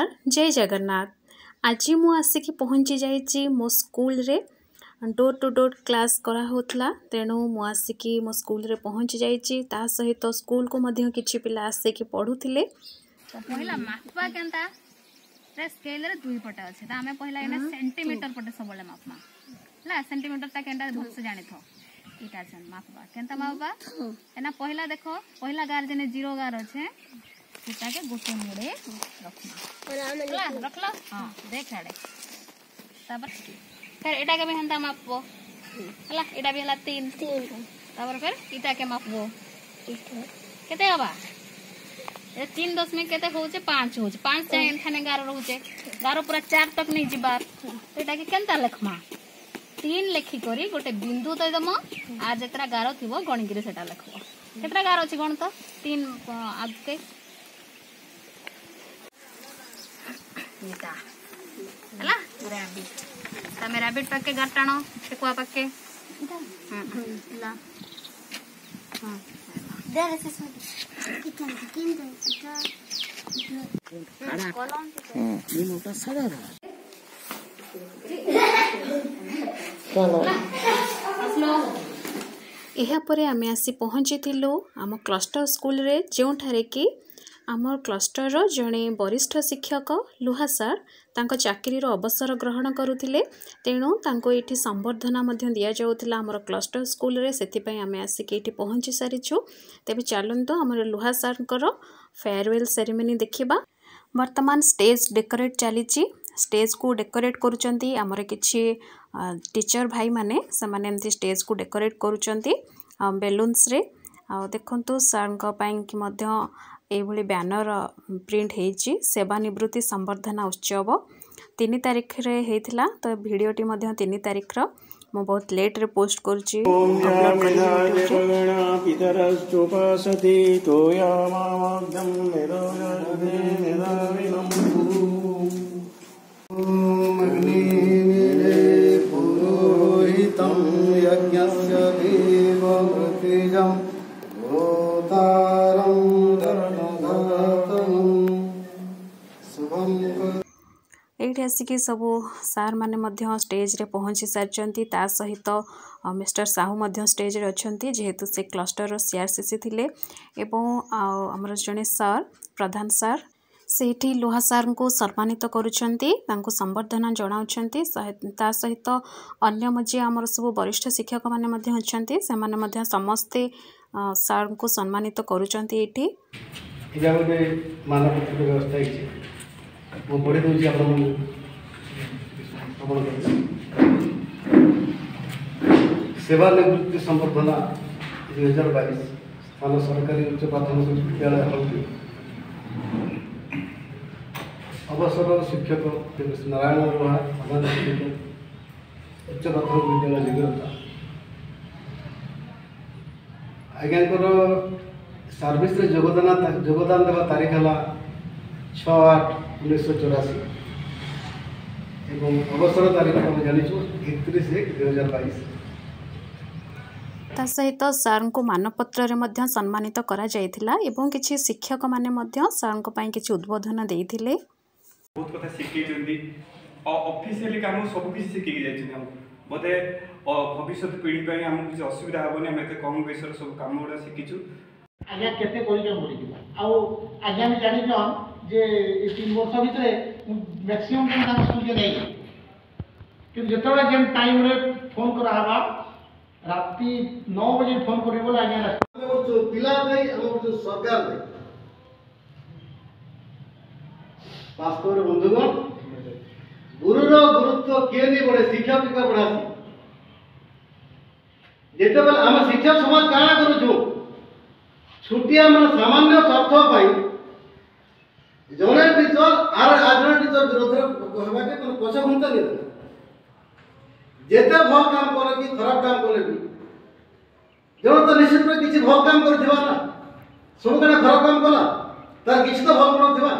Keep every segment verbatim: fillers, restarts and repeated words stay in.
ନମସ୍କାର, ଜୟ ଜଗନ୍ନାଥ। ଆଜି ମୁଁ ଆସିକି ପହଞ୍ଚି ଯାଇଛି ମୋ ସ୍କୁଲରେ। ଡୋର୍ ଟୁ ଡୋର୍ କ୍ଲାସ୍ କରାହେଉଥିଲା, ତେଣୁ ମୁଁ ଆସିକି ମୋ ସ୍କୁଲରେ ପହଞ୍ଚି ଯାଇଛି। ତା ସହିତ ସ୍କୁଲକୁ ମଧ୍ୟ କିଛି ପିଲା ଆସିକି ପଢ଼ୁଥିଲେ। ତ ପହିଲା ମାପବା କେନ୍ତା? ସ୍କେଲରେ ଦୁଇ ପଟେ ଅଛି। ତ ଆମେ ପହିଲା ଏଇନା ସେଣ୍ଟିମିଟର ପଟେ ସବୁବେଳେ ମାପମା। ହେଲା, ସେଣ୍ଟିମିଟରଟା କେନ୍ତା ଭଲସେ ଜାଣିଥ। ଇଟା ଅଛନ୍ ମାପବା କେନ୍ତା ମାପବା ଏନା। ପହିଲା ଦେଖ, ପହିଲା ଗାର ଯେନେ ଜିରୋ ଗାର ଅଛେ, ସେଟାକେ ଗୋଟେ ମୁଡେ ରଖମା। ହେଲା, ରଖଲ? ହଁ, ଦେଖ ଆଡେ। ତାପରେ ଫେର ଏଟାକେ ବି ହେନ୍ତା ମାପବ। ହେଲା, ଏଟା ବି ହେଲା ତିନ। ତାପରେ ଫେର ଇଟାକେ ମାପବ, କେତେ ହବା? ଏ ତିନ ଦଶମିକ କେତେ ହଉଛେ? ପାଞ୍ଚ ହଉଛେ। ପାଞ୍ଚ ଯାଏ ଏଠାନେ ଗାର ରହୁଛେ, ଗାର ପୁରା ଚାର ତକ ନେଇ ଯିବାର। ଏଟାକେ କେନ୍ତା ଲେଖମା? ତିନ ଲେଖିକରି ଗୋଟେ ବିନ୍ଦୁ ଦେଇଦମ, ଆର ଯେତେଟା ଗାର ଥିବ ଗଣିକିରି ସେଟା ଲେଖବ। କେତେଟା ଗାର ଅଛି ଗଣ ତ, ତିନ ଆଗକେ। ଏଟା ହେଲା ରାବିଟ। ତମେ ରାବିଟ ପାଖେ ଗାର ଟାଣ, ଠେକୁଆ ପାଖେ। ହେଲା। ଏହାପରେ ଆମେ ଆସି ପହଞ୍ଚିଥିଲୁ ଆମ କ୍ଲଷ୍ଟର ସ୍କୁଲରେ, ଯେଉଁଠାରେ କି ଆମ କ୍ଲଷ୍ଟରର ଜଣେ ବରିଷ୍ଠ ଶିକ୍ଷକ ଲୁହା ସାର୍ ତାଙ୍କ ଚାକିରିର ଅବସର ଗ୍ରହଣ କରୁଥିଲେ। ତେଣୁ ତାଙ୍କୁ ଏଇଠି ସମ୍ବର୍ଦ୍ଧନା ମଧ୍ୟ ଦିଆଯାଉଥିଲା ଆମର କ୍ଲଷ୍ଟର ସ୍କୁଲରେ। ସେଥିପାଇଁ ଆମେ ଆସିକି ଏଇଠି ପହଞ୍ଚି ସାରିଛୁ। ତେବେ ଚାଲନ୍ତୁ, ଆମର ଲୁହା ସାର୍ଙ୍କର ଫେୟାରୱେଲ୍ ସେରିମନି ଦେଖିବା। ବର୍ତ୍ତମାନ ଷ୍ଟେଜ୍ ଡେକୋରେଟ୍ ଚାଲିଛି। ଷ୍ଟେଜ୍କୁ ଡେକୋରେଟ୍ କରୁଛନ୍ତି ଆମର କିଛି ଟିଚର୍ ଭାଇମାନେ। ସେମାନେ ଏମିତି ଷ୍ଟେଜ୍କୁ ଡେକୋରେଟ୍ କରୁଛନ୍ତି ବେଲୁନ୍ସରେ। ଆଉ ଦେଖନ୍ତୁ, ସାର୍ଙ୍କ ପାଇଁକି ମଧ୍ୟ ଏଇଭଳି ବ୍ୟାନର ପ୍ରିଣ୍ଟ ହେଇଛି। ସେବାନିବୃତ୍ତି ସମ୍ବର୍ଦ୍ଧନା ଉତ୍ସବ ତିନି ତାରିଖରେ ହେଇଥିଲା, ତ ଭିଡ଼ିଓଟି ମଧ୍ୟ ତିନି ତାରିଖର। ମୁଁ ବହୁତ ଲେଟ୍ରେ ପୋଷ୍ଟ କରୁଛି, ଅପଲୋଡ଼ କରିବି ୟୁଟ୍ୟୁବରେ। पुरोहितं यज्ञस्य देवमृतिजं होतारं धर्मधातनं शुभं। ଏଇଠି ଆସିକି ସବୁ ସାର୍ମାନେ ମଧ୍ୟ ଷ୍ଟେଜ୍ରେ ପହଞ୍ଚି ସାରିଛନ୍ତି। ତା ସହିତ ମିଷ୍ଟର ସାହୁ ମଧ୍ୟ ଷ୍ଟେଜ୍ରେ ଅଛନ୍ତି, ଯେହେତୁ ସେ କ୍ଲଷ୍ଟରର ସି ଆର୍ ସି ସି ଥିଲେ, ଏବଂ ଆଉ ଆମର ଜଣେ ସାର୍, ପ୍ରଧାନ ସାର୍, ସେଇଠି ଲୁହା ସାର୍ଙ୍କୁ ସମ୍ମାନିତ କରୁଛନ୍ତି, ତାଙ୍କୁ ସମ୍ବର୍ଦ୍ଧନା ଜଣାଉଛନ୍ତି। ତା ସହିତ ଅନ୍ୟ ଯିଏ ଆମର ସବୁ ବରିଷ୍ଠ ଶିକ୍ଷକମାନେ ମଧ୍ୟ ଅଛନ୍ତି, ସେମାନେ ମଧ୍ୟ ସମସ୍ତେ ସାର୍ଙ୍କୁ ସମ୍ମାନିତ କରୁଛନ୍ତି ଏଇଠି। ଏଇଟା ଗୋଟେ ମାନପତ୍ର ବ୍ୟବସ୍ଥା ହେଇଛି। ମୁଁ ପଢ଼ି ଦେଉଛି ଆପଣମାନଙ୍କୁ ଶ୍ରବଣ କରିବେ। ସେବା ନିବୃତ୍ତି ସମ୍ବର୍ଦ୍ଧନା ଦୁଇ ହଜାର ବାଇଶ, ସ୍ଥାନ ସରକାରୀ ଉଚ୍ଚ ପ୍ରାଥମିକ ବିଦ୍ୟାଳୟ ହଳଦୀ। ଅବସର ଶିକ୍ଷକ ନାରାୟଣ ଲୋହା, ପ୍ରଧାନ ଶିକ୍ଷକ, ଉଚ୍ଚ ପ୍ରାଥମିକ ବିଦ୍ୟାଳୟ ଯୋଗ୍ୟତା। ଆଜ୍ଞାଙ୍କର ସର୍ଭିସରେ ଯୋଗଦାନ ଯୋଗଦାନ ଦେବା ତାରିଖ ହେଲା ଛଅ ଆଠ ଉଣେଇଶହ ଚଉରାଅଶୀ ଏବଂ ଅବସର ତାରିଖ ଆମେ ଜାଣିଛୁ ଏକତିରିଶ ଏକ ଦୁଇ ହଜାର ବାଇଶ। ତା ସହିତ ସାର୍ଙ୍କୁ ମାନପତ୍ରରେ ମଧ୍ୟ ସମ୍ମାନିତ କରାଯାଇଥିଲା ଏବଂ କିଛି ଶିକ୍ଷକମାନେ ମଧ୍ୟ ସାର୍ଙ୍କ ପାଇଁ କିଛି ଉଦ୍ବୋଧନ ଦେଇଥିଲେ। ବହୁତ କଥା ଶିଖେଇଛନ୍ତି, ଅଫିସିଆଲି କାମ ସବୁ କିଛି ଶିଖେଇକି ଯାଇଛନ୍ତି ଆମକୁ। ବୋଧେ ଭବିଷ୍ୟତ ପିଢ଼ି ପାଇଁ ଆମକୁ କିଛି ଅସୁବିଧା ହେବନି, ଆମେ ଏତେ କମ୍ ବୟସରେ ସବୁ କାମ ଗୁଡ଼ା ଶିଖିଛୁ। ଆଜ୍ଞା କେତେ କରିଛନ୍ ବୋଲିକିନା। ଆଉ ଆଜ୍ଞା ବି ଜାଣିଛନ୍ ଯେ ଏ ତିନି ବର୍ଷ ଭିତରେ ମୁଁ ମ୍ୟାକ୍ସିମମ୍ ଟାଇମ୍ ତାଙ୍କ ସ୍କୁଲ୍କେ ନେଇଯାଏ, କିନ୍ତୁ ଯେତେବେଳେ ଯେନ୍ ଟାଇମ୍ରେ ଫୋନ୍ କରାହେବା, ରାତି ନଅ ବଜେ ଫୋନ୍ କରିବେ ବୋଲେ ଆଜ୍ଞା। ଆମର ଯୋଉ ପିଲା ଦେଇ, ଆମର ଯୋଉ ସରକାର ଦେଇ, ବାସ୍ତବରେ ବନ୍ଧୁଗଣ, ଗୁରୁର ଗୁରୁତ୍ୱ କିଏ ନି ବଢ଼େ, ଶିକ୍ଷକ ବଢ଼ାସି। ଯେତେବେଳେ ଆମେ ଶିକ୍ଷକ ସମାଜ କାଣା କରୁଛୁ, ଛୋଟିଆ ମାନେ ସାମାନ୍ୟ ସ୍ୱାର୍ଥ ପାଇଁ ଜଣେ ଟିଚର ଆର ଆଉ ଜଣେ ଟିଚର ବିରୋଧରେ କହିବାକେ ମାନେ ପଛ ଘୁଞ୍ଚା ନେଇ ଦେବେ। ଯେତେ ଭଲ କାମ କଲେ କି ଖରାପ କାମ କଲେ ବି ଜଣେ ତ ନିଶ୍ଚିତ ରୂପେ କିଛି ଭଲ କାମ କରିଥିବା ନା। ସବୁ କାଣା ଖରାପ କାମ କଲା? ତାର କିଛି ତ ଭଲ ଗୁଣ ଥିବା।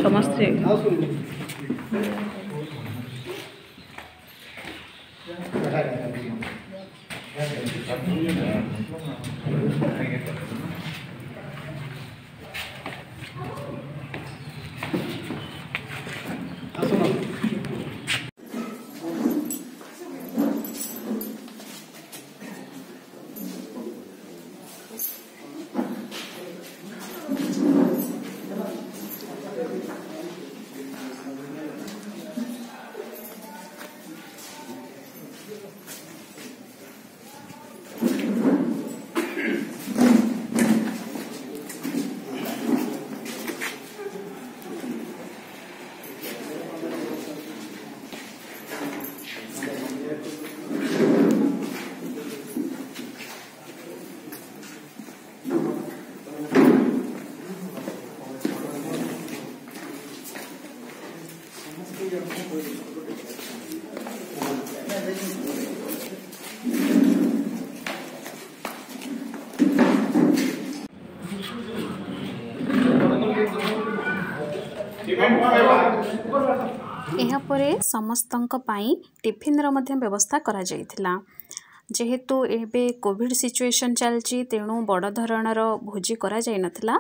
ସମସ୍ତେ ଆସନ୍ତୁ। ଏହାପରେ ସମସ୍ତଙ୍କ ପାଇଁ ଟିଫିନ୍ର ମଧ୍ୟ ବ୍ୟବସ୍ଥା କରାଯାଇଥିଲା। ଯେହେତୁ ଏବେ କୋଭିଡ଼ ସିଚୁଏସନ୍ ଚାଲିଛି, ତେଣୁ ବଡ଼ ଧରଣର ଭୋଜି କରାଯାଇନଥିଲା,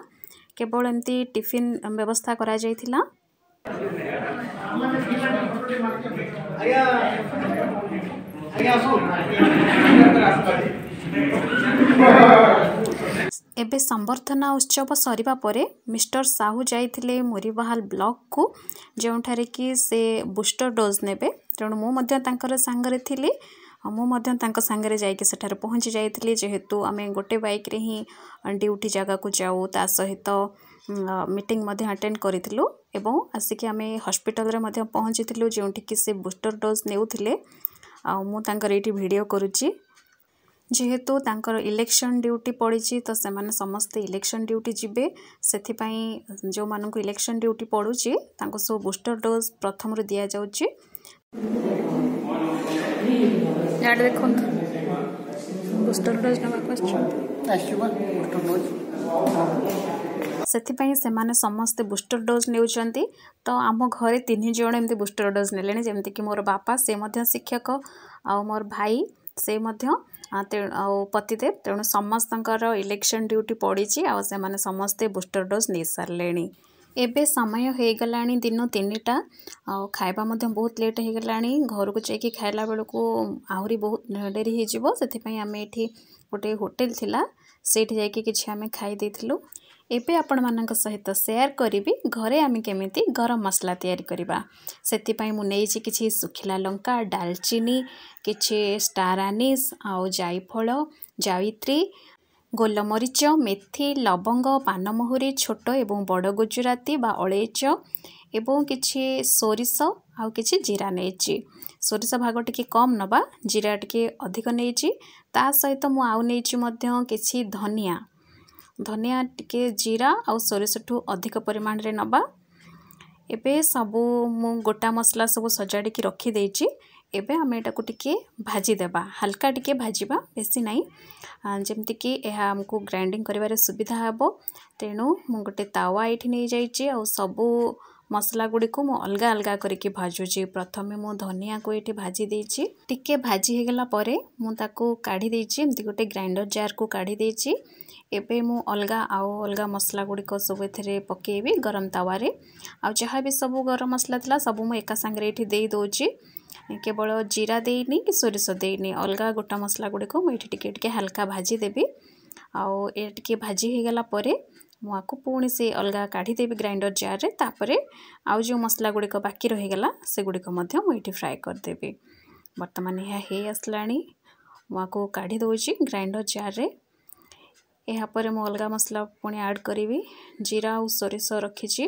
କେବଳ ଏମିତି ଟିଫିନ୍ ବ୍ୟବସ୍ଥା କରାଯାଇଥିଲା। ଆଜ୍ଞା, ଆଜ୍ଞା ଆସୁନ୍। ଏବେ ସମ୍ବର୍ଦ୍ଧନା ଉତ୍ସବ ସରିବା ପରେ ମିଷ୍ଟର ସାହୁ ଯାଇଥିଲେ ମୁରିବାହାଲ ବ୍ଲକକୁ, ଯେଉଁଠାରେ କି ସେ ବୁଷ୍ଟର ଡୋଜ୍ ନେବେ। ତେଣୁ ମୁଁ ମଧ୍ୟ ତାଙ୍କର ସାଙ୍ଗରେ ଥିଲି ଆଉ ମୁଁ ମଧ୍ୟ ତାଙ୍କ ସାଙ୍ଗରେ ଯାଇକି ସେଠାରେ ପହଞ୍ଚି ଯାଇଥିଲି। ଯେହେତୁ ଆମେ ଗୋଟେ ବାଇକ୍ରେ ହିଁ ଡ୍ୟୁଟି ଜାଗାକୁ ଯାଉ, ତା ସହିତ ମିଟିଂ ମଧ୍ୟ ଆଟେଣ୍ଡ କରିଥିଲୁ ଏବଂ ଆସିକି ଆମେ ହସ୍ପିଟାଲରେ ମଧ୍ୟ ପହଞ୍ଚିଥିଲୁ, ଯେଉଁଠିକି ସେ ବୁଷ୍ଟର ଡୋଜ୍ ନେଉଥିଲେ। ଆଉ ମୁଁ ତାଙ୍କର ଏଇଠି ଭିଡ଼ିଓ କରୁଛି। ଯେହେତୁ ତାଙ୍କର ଇଲେକ୍ସନ୍ ଡ୍ୟୁଟି ପଡ଼ିଛି, ତ ସେମାନେ ସମସ୍ତେ ଇଲେକ୍ସନ୍ ଡ୍ୟୁଟି ଯିବେ। ସେଥିପାଇଁ ଯେଉଁମାନଙ୍କୁ ଇଲେକ୍ସନ୍ ଡ୍ୟୁଟି ପଡ଼ୁଛି, ତାଙ୍କୁ ସବୁ ବୁଷ୍ଟର ଡୋଜ୍ ପ୍ରଥମରୁ ଦିଆଯାଉଛି। ଇଆଡ଼େ ଦେଖନ୍ତୁ, ବୁଷ୍ଟର ଡୋଜ୍ ନେବାକୁ ଆସିଛନ୍ତି। ସେଥିପାଇଁ ସେମାନେ ସମସ୍ତେ ବୁଷ୍ଟର ଡୋଜ୍ ନେଉଛନ୍ତି। ତ ଆମ ଘରେ ତିନି ଜଣ ଏମିତି ବୁଷ୍ଟର ଡୋଜ୍ ନେଲେଣି, ଯେମିତିକି ମୋର ବାପା, ସେ ମଧ୍ୟ ଶିକ୍ଷକ, ଆଉ ମୋର ଭାଇ ସେ ମଧ୍ୟ, ତେଣୁ ଆଉ ପତିଦେବ। ତେଣୁ ସମସ୍ତଙ୍କର ଇଲେକ୍ସନ୍ ଡ୍ୟୁଟି ପଡ଼ିଛି ଆଉ ସେମାନେ ସମସ୍ତେ ବୁଷ୍ଟର ଡୋଜ୍ ନେଇସାରିଲେଣି। ଏବେ ସମୟ ହେଇଗଲାଣି ଦିନ ତିନିଟା ଆଉ ଖାଇବା ମଧ୍ୟ ବହୁତ ଲେଟ୍ ହେଇଗଲାଣି। ଘରକୁ ଯାଇକି ଖାଇଲା ବେଳକୁ ଆହୁରି ବହୁତ ଡେରି ହେଇଯିବ। ସେଥିପାଇଁ ଆମେ ଏଠି ଗୋଟେ ହୋଟେଲ ଥିଲା, ସେଇଠି ଯାଇକି କିଛି ଆମେ ଖାଇ ଦେଇଥିଲୁ। ଏବେ ଆପଣମାନଙ୍କ ସହିତ ସେୟାର କରିବି ଘରେ ଆମେ କେମିତି ଗରମ ମସଲା ତିଆରି କରିବା। ସେଥିପାଇଁ ମୁଁ ନେଇଛି କିଛି ଶୁଖିଲା ଲଙ୍କା, ଡାଲଚିନି, କିଛି ଷ୍ଟାର ଆନିସ୍ ଆଉ ଜାଇଫଳ, ଜାବିତ୍ରୀ, ଗୋଲମରିଚ, ମେଥି, ଲବଙ୍ଗ, ପାନମହୁରି, ଛୋଟ ଏବଂ ବଡ଼ ଗୁଜୁରାତି ବା ଅଳେଇଚ ଏବଂ କିଛି ସୋରିଷ ଆଉ କିଛି ଜିରା ନେଇଛି। ସୋରିଷ ଭାଗ ଟିକେ କମ୍ ନେବା, ଜିରା ଟିକେ ଅଧିକ ନେଇଛି। ତା ସହିତ ମୁଁ ଆଉ ନେଇଛି ମଧ୍ୟ କିଛି ଧନିଆ। ଧନିଆ ଟିକେ ଜିରା ଆଉ ସୋରିଷଠୁ ଅଧିକ ପରିମାଣରେ ନେବା। ଏବେ ସବୁ ମୁଁ ଗୋଟା ମସଲା ସବୁ ସଜାଡ଼ିକି ରଖିଦେଇଛି। ଏବେ ଆମେ ଏଟାକୁ ଟିକେ ଭାଜିଦେବା, ହାଲକା ଟିକେ ଭାଜିବା, ବେଶୀ ନାହିଁ, ଯେମିତିକି ଏହା ଆମକୁ ଗ୍ରାଇଣ୍ଡିଙ୍ଗ କରିବାରେ ସୁବିଧା ହେବ। ତେଣୁ ମୁଁ ଗୋଟେ ତାୱା ଏଇଠି ନେଇଯାଇଛି ଆଉ ସବୁ ମସଲା ଗୁଡ଼ିକୁ ମୁଁ ଅଲଗା ଅଲଗା କରିକି ଭାଜୁଛି। ପ୍ରଥମେ ମୁଁ ଧନିଆକୁ ଏଇଠି ଭାଜି ଦେଇଛି। ଟିକେ ଭାଜି ହେଇଗଲା ପରେ ମୁଁ ତାକୁ କାଢ଼ି ଦେଇଛି, ଏମିତି ଗୋଟେ ଗ୍ରାଇଣ୍ଡର ଜାର୍କୁ କାଢ଼ି ଦେଇଛି। ଏବେ ମୁଁ ଅଲଗା ଆଉ ଅଲଗା ମସଲା ଗୁଡ଼ିକ ସବୁ ଏଥିରେ ପକାଇବି ଗରମ ତାୱାରେ। ଆଉ ଯାହା ବି ସବୁ ଗରମ ମସଲା ଥିଲା, ସବୁ ମୁଁ ଏକା ସାଙ୍ଗରେ ଏଇଠି ଦେଇ ଦେଉଛି। କେବଳ ଜିରା ଦେଇନି କି ସୋରିଷ ଦେଇନି। ଅଲଗା ଗୋଟା ମସଲା ଗୁଡ଼ିକ ମୁଁ ଏଇଠି ଟିକେ ଟିକେ ହାଲକା ଭାଜିଦେବି। ଆଉ ଏ ଟିକେ ଭାଜି ହେଇଗଲା ପରେ ମୁଁ ଆକୁ ପୁଣି ସେ ଅଲଗା କାଢ଼ିଦେବି ଗ୍ରାଇଣ୍ଡର ଜାର୍ରେ। ତାପରେ ଆଉ ଯେଉଁ ମସଲା ଗୁଡ଼ିକ ବାକି ରହିଗଲା, ସେଗୁଡ଼ିକ ମଧ୍ୟ ମୁଁ ଏଇଠି ଫ୍ରାଏ କରିଦେବି। ବର୍ତ୍ତମାନ ଏହା ହେଇ ଆସିଲାଣି, ମୁଁ ଆକୁ କାଢ଼ି ଦେଉଛି ଗ୍ରାଇଣ୍ଡର ଜାର୍ରେ। ଏହାପରେ ମୁଁ ଅଲଗା ମସଲା ପୁଣି ଆଡ଼୍ କରିବି। ଜିରା ଆଉ ସୋରିଷ ରଖିଛି,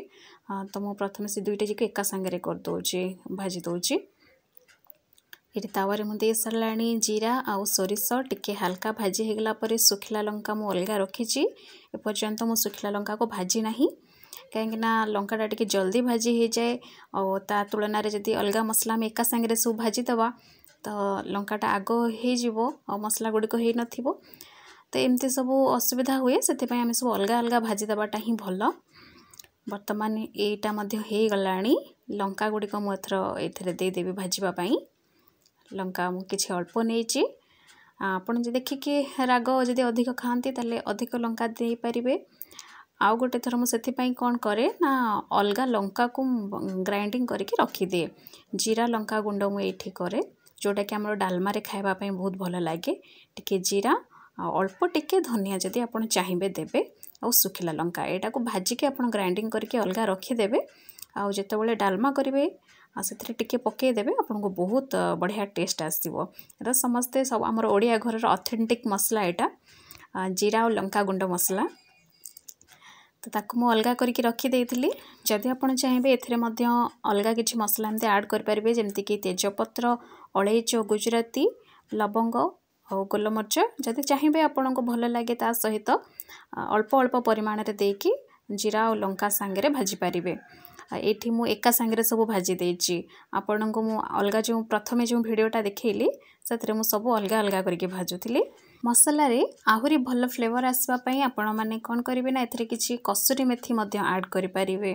ତ ମୁଁ ପ୍ରଥମେ ସେ ଦୁଇଟା ଯାକ ଏକା ସାଙ୍ଗରେ କରିଦେଉଛି, ଭାଜି ଦେଉଛି। ଏଠି ତାୱାରେ ମୁଁ ଦେଇ ସାରିଲାଣି ଜିରା ଆଉ ସୋରିଷ। ଟିକେ ହାଲକା ଭାଜି ହେଇଗଲା ପରେ ଶୁଖିଲା ଲଙ୍କା ମୁଁ ଅଲଗା ରଖିଛି। ଏପର୍ଯ୍ୟନ୍ତ ମୁଁ ଶୁଖିଲା ଲଙ୍କାକୁ ଭାଜି ନାହିଁ, କାହିଁକିନା ଲଙ୍କାଟା ଟିକେ ଜଲ୍ଦି ଭାଜି ହେଇଯାଏ ଆଉ ତା ତୁଳନାରେ ଯଦି ଅଲଗା ମସଲା ଆମେ ଏକା ସାଙ୍ଗରେ ସବୁ ଭାଜିଦେବା, ତ ଲଙ୍କାଟା ଆଗ ହେଇଯିବ ଆଉ ମସଲା ଗୁଡ଼ିକ ହେଇନଥିବ। ତ ଏମିତି ସବୁ ଅସୁବିଧା ହୁଏ, ସେଥିପାଇଁ ଆମେ ସବୁ ଅଲଗା ଅଲଗା ଭାଜି ଦେବାଟା ହିଁ ଭଲ। ବର୍ତ୍ତମାନ ଏଇଟା ମଧ୍ୟ ହେଇଗଲାଣି। ଲଙ୍କା ଗୁଡ଼ିକ ମୁଁ ଏଥର ଏଥିରେ ଦେଇଦେବି ଭାଜିବା ପାଇଁ। ଲଙ୍କା ମୁଁ କିଛି ଅଳ୍ପ ନେଇଛି। ଆପଣ ଯଦି ଦେଖିକି ରାଗ ଯଦି ଅଧିକ ଖାଆନ୍ତି, ତାହେଲେ ଅଧିକ ଲଙ୍କା ଦେଇପାରିବେ। ଆଉ ଗୋଟେ ଥର ମୁଁ ସେଥିପାଇଁ କ'ଣ କରେ ନା, ଅଲଗା ଲଙ୍କାକୁ ଗ୍ରାଇଣ୍ଡିଙ୍ଗ କରିକି ରଖିଦିଏ। ଜିରା ଲଙ୍କା ଗୁଣ୍ଡ ମୁଁ ଏଇଠି କରେ, ଯେଉଁଟାକି ଆମର ଡାଲମାରେ ଖାଇବା ପାଇଁ ବହୁତ ଭଲ ଲାଗେ। ଟିକେ ଜିରା ଆଉ ଅଳ୍ପ ଟିକେ ଧନିଆ ଯଦି ଆପଣ ଚାହିଁବେ ଦେବେ, ଆଉ ଶୁଖିଲା ଲଙ୍କା, ଏଇଟାକୁ ଭାଜିକି ଆପଣ ଗ୍ରାଇଣ୍ଡିଙ୍ଗ କରିକି ଅଲଗା ରଖିଦେବେ। ଆଉ ଯେତେବେଳେ ଡାଲମା କରିବେ ଆଉ ସେଥିରେ ଟିକେ ପକାଇଦେବେ, ଆପଣଙ୍କୁ ବହୁତ ବଢ଼ିଆ ଟେଷ୍ଟ ଆସିବ। ଏଇଟା ସମସ୍ତେ ସବୁ ଆମର ଓଡ଼ିଆ ଘରର ଅଥେଣ୍ଟିକ୍ ମସଲା ଏଇଟା, ଜିରା ଆଉ ଲଙ୍କା ଗୁଣ୍ଡ ମସଲା। ତ ତାକୁ ମୁଁ ଅଲଗା କରିକି ରଖିଦେଇଥିଲି। ଯଦି ଆପଣ ଚାହିଁବେ, ଏଥିରେ ମଧ୍ୟ ଅଲଗା କିଛି ମସଲା ଏମିତି ଆଡ଼୍ କରିପାରିବେ, ଯେମିତିକି ତେଜପତ୍ର, ଅଳେଇଚ, ଗୁଜୁରାତି, ଲବଙ୍ଗ ଆଉ ଗୋଲମରିଚ। ଯଦି ଚାହିଁବେ, ଆପଣଙ୍କୁ ଭଲ ଲାଗେ, ତା ସହିତ ଅଳ୍ପ ଅଳ୍ପ ପରିମାଣରେ ଦେଇକି ଜିରା ଆଉ ଲଙ୍କା ସାଙ୍ଗରେ ଭାଜିପାରିବେ। ଏଇଠି ମୁଁ ଏକା ସାଙ୍ଗରେ ସବୁ ଭାଜି ଦେଇଛି। ଆପଣଙ୍କୁ ମୁଁ ଅଲଗା ଯେଉଁ ପ୍ରଥମେ ଯେଉଁ ଭିଡ଼ିଓଟା ଦେଖେଇଲି, ସେଥିରେ ମୁଁ ସବୁ ଅଲଗା ଅଲଗା କରିକି ଭାଜୁଥିଲି। ମସଲାରେ ଆହୁରି ଭଲ ଫ୍ଲେଭର୍ ଆସିବା ପାଇଁ ଆପଣମାନେ କ'ଣ କରିବେ ନା, ଏଥିରେ କିଛି କସୁରୀ ମେଥି ମଧ୍ୟ ଆଡ଼୍ କରିପାରିବେ।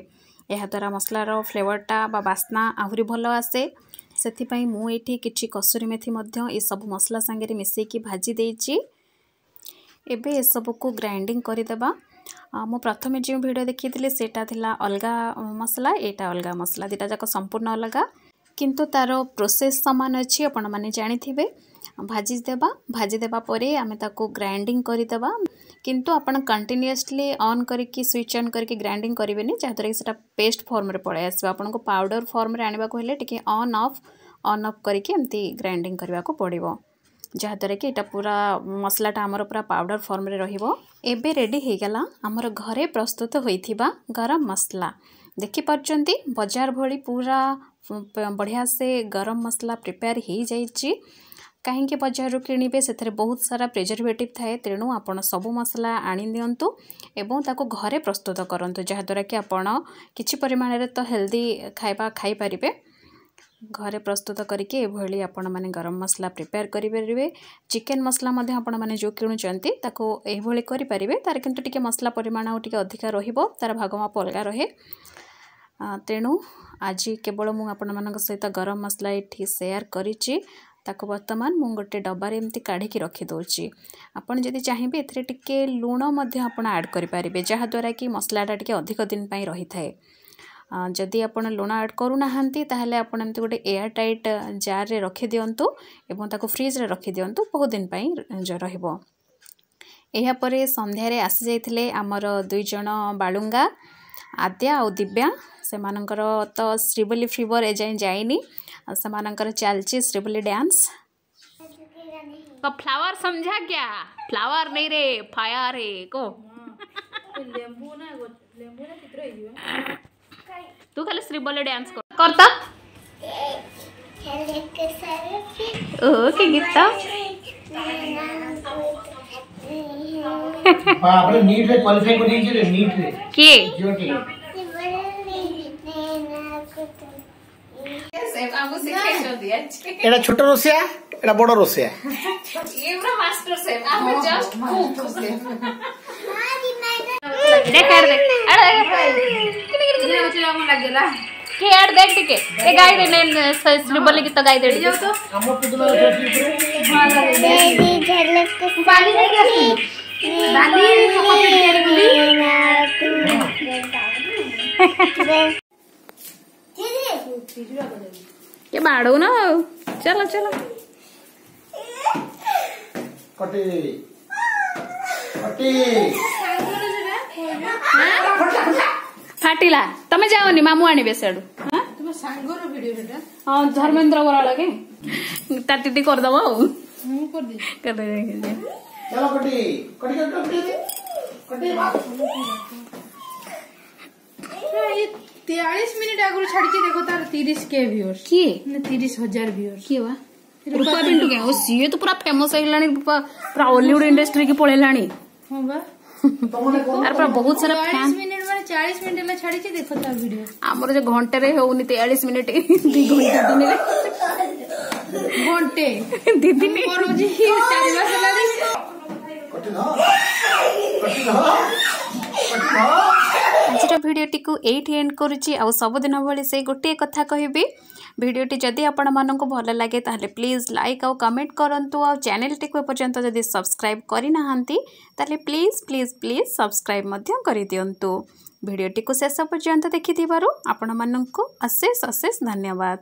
ଏହାଦ୍ୱାରା ମସଲାର ଫ୍ଲେଭରଟା ବା ବାସ୍ନା ଆହୁରି ଭଲ ଆସେ। ସେଥିପାଇଁ ମୁଁ ଏଇଠି କିଛି କସୁରୀ ମେଥି ମଧ୍ୟ ଏସବୁ ମସଲା ସାଙ୍ଗରେ ମିଶାଇକି ଭାଜି ଦେଇଛି। ଏବେ ଏସବୁକୁ ଗ୍ରାଇଣ୍ଡିଙ୍ଗ କରିଦେବା। ମୁଁ ପ୍ରଥମେ ଯେଉଁ ଭିଡ଼ିଓ ଦେଖିଥିଲି ସେଇଟା ଥିଲା ଅଲଗା ମସଲା, ଏଇଟା ଅଲଗା ମସଲା, ଦୁଇଟା ଯାକ ସମ୍ପୂର୍ଣ୍ଣ ଅଲଗା, କିନ୍ତୁ ତା'ର ପ୍ରୋସେସ୍ ସମାନ ଅଛି, ଆପଣମାନେ ଜାଣିଥିବେ। ଭାଜି ଦେବା, ଭାଜି ଦେବା ପରେ ଆମେ ତାକୁ ଗ୍ରାଇଣ୍ଡିଙ୍ଗ କରିଦେବା। କିନ୍ତୁ ଆପଣ କଣ୍ଟିନ୍ୟୁଅସଲି ଅନ୍ କରିକି, ସୁଇଚ୍ ଅନ୍ କରିକି ଗ୍ରାଇଣ୍ଡିଙ୍ଗ କରିବେନି, ଯାହାଦ୍ୱାରା କି ସେଇଟା ପେଷ୍ଟ ଫର୍ମରେ ପଳାଇ ଆସିବ। ଆପଣଙ୍କୁ ପାଉଡ଼ର ଫର୍ମରେ ଆଣିବାକୁ ହେଲେ ଟିକେ ଅନ୍ ଅଫ୍ ଅନ୍ ଅଫ୍ କରିକି ଏମିତି ଗ୍ରାଇଣ୍ଡିଙ୍ଗ କରିବାକୁ ପଡ଼ିବ, ଯାହାଦ୍ୱାରା କି ଏଇଟା ପୁରା ମସଲାଟା ଆମର ପୁରା ପାଉଡ଼ର ଫର୍ମରେ ରହିବ। ଏବେ ରେଡ଼ି ହେଇଗଲା ଆମର ଘରେ ପ୍ରସ୍ତୁତ ହୋଇଥିବା ଗରମ ମସଲା। ଦେଖିପାରୁଛନ୍ତି, ବଜାର ଭଳି ପୁରା ବଢ଼ିଆ ସେ ଗରମ ମସଲା ପ୍ରିପେୟାର ହେଇଯାଇଛି। କାହିଁକି ବଜାରରୁ କିଣିବେ, ସେଥିରେ ବହୁତ ସାରା ପ୍ରିଜରଭେଟିଭ୍ ଥାଏ। ତେଣୁ ଆପଣ ସବୁ ମସଲା ଆଣି ଦିଅନ୍ତୁ ଏବଂ ତାକୁ ଘରେ ପ୍ରସ୍ତୁତ କରନ୍ତୁ, ଯାହାଦ୍ୱାରା କି ଆପଣ କିଛି ପରିମାଣରେ ତ ହେଲ୍ଦି ଖାଇବା ଖାଇପାରିବେ। ଘରେ ପ୍ରସ୍ତୁତ କରିକି ଏଭଳି ଆପଣମାନେ ଗରମ ମସଲା ପ୍ରିପେୟାର କରିପାରିବେ। ଚିକେନ୍ ମସଲା ମଧ୍ୟ ଆପଣମାନେ ଯେଉଁ କିଣୁଛନ୍ତି ତାକୁ ଏଇଭଳି କରିପାରିବେ। ତା'ର କିନ୍ତୁ ଟିକେ ମସଲା ପରିମାଣ ଆଉ ଟିକେ ଅଧିକା ରହିବ, ତା'ର ଭାଗ ମାପ ଅଲଗା ରହେ। ତେଣୁ ଆଜି କେବଳ ମୁଁ ଆପଣମାନଙ୍କ ସହିତ ଗରମ ମସଲା ଏଠି ସେୟାର କରିଛି। ତାକୁ ବର୍ତ୍ତମାନ ମୁଁ ଗୋଟେ ଡବାରେ ଏମିତି କାଢ଼ିକି ରଖିଦେଉଛି। ଆପଣ ଯଦି ଚାହିଁବେ ଏଥିରେ ଟିକେ ଲୁଣ ମଧ୍ୟ ଆପଣ ଆଡ଼୍ କରିପାରିବେ, ଯାହାଦ୍ୱାରା କି ମସଲାଟା ଟିକେ ଅଧିକ ଦିନ ପାଇଁ ରହିଥାଏ। ଯଦି ଆପଣ ଲୁଣ ଆଡ଼୍ କରୁନାହାନ୍ତି ତାହେଲେ ଆପଣ ଏମିତି ଗୋଟେ ଏୟାର ଟାଇଟ୍ ଜାର୍ରେ ରଖିଦିଅନ୍ତୁ ଏବଂ ତାକୁ ଫ୍ରିଜ୍ରେ ରଖିଦିଅନ୍ତୁ, ବହୁତ ଦିନ ପାଇଁ ରହିବ। ଏହାପରେ ସନ୍ଧ୍ୟାରେ ଆସିଯାଇଥିଲେ ଆମର ଦୁଇ ଜଣ ବାଳୁଙ୍ଗା, ଆଦ୍ୟା ଆଉ ଦିବ୍ୟା। ସେମାନଙ୍କର ତ ଶ୍ରୀବଲି ଫିଭର ଏଯାଏଁ ଯାଇନି, ଆଉ ସେମାନଙ୍କର ଚାଲିଛି ଶ୍ରୀବଲି ଡ୍ୟାନ୍ସ। तो फ्लावर समझा क्या? फ्लावर नहीं रे, फायर है को। तू खाली श्रीबली डांस कर करता ओ के गीत। बाप रे, नीट रे क्वालिफाई कर दीजिए रे, नीट रे के ज्योति एटा छोटो रोसिया, एटा बड़ो रोसिया, ये पूरा मास्टर शेफ, हम जस्ट कुक। देख अरे देख अरे के यार देख टिके ए गाई दे ने श्रीबली गीत गाई दे। तो हम पुदना तेरी झलक बाली नहीं बाली कॉपी तैयारी गुली। के बाड़ो ना, चलो चलो कटी कटी फाटिला। तमे जाओनी, मामू आनिबे सेडु। हां तुम सांगर वीडियो बेटा। हां धर्मेंद्र बराळ के ता दीदी कर दबो। मु कर दे कर दे। चलो कटी कटी कटी कटी बात। ये तेयालीस मिनिट आगु छाड़ी देखो तार तीस के व्यूअर्स किए ने तीस हजार व्यूअर्स किए वा रूपा पिंटू के ओ सीए तो पूरा फेमस होइलानी, पूरा हॉलीवुड इंडस्ट्री के पळेलानी। हां बा तार पूरा बहुत सारा फैन। चालीस मिनिट माने चालीस मिनिट में छाड़ी देखो तार वीडियो। हमर जे घंटे रे होउनी तेयालीस मिनिट दु घंटा दिन रे घंटे दीदी ने करू जी चार मास लागी। कटी ना कटी ना कटी ना। ଆଜିର ଭିଡ଼ିଓଟିକୁ ଏଇଠି ଏଣ୍ଡ କରୁଛି। ଆଉ ସବୁଦିନ ଭଳି ସେଇ ଗୋଟିଏ କଥା କହିବି, ଭିଡ଼ିଓଟି ଯଦି ଆପଣମାନଙ୍କୁ ଭଲ ଲାଗେ ତାହେଲେ ପ୍ଲିଜ୍ ଲାଇକ୍ ଆଉ କମେଣ୍ଟ କରନ୍ତୁ। ଆଉ ଚ୍ୟାନେଲଟିକୁ ଏପର୍ଯ୍ୟନ୍ତ ଯଦି ସବସ୍କ୍ରାଇବ୍ କରିନାହାନ୍ତି ତାହେଲେ ପ୍ଲିଜ୍ ପ୍ଲିଜ୍ ପ୍ଲିଜ୍ ସବସ୍କ୍ରାଇବ୍ ମଧ୍ୟ କରିଦିଅନ୍ତୁ। ଭିଡ଼ିଓଟିକୁ ଶେଷ ପର୍ଯ୍ୟନ୍ତ ଦେଖିଥିବାରୁ ଆପଣମାନଙ୍କୁ ଅଶେଷ ଅଶେଷ ଧନ୍ୟବାଦ।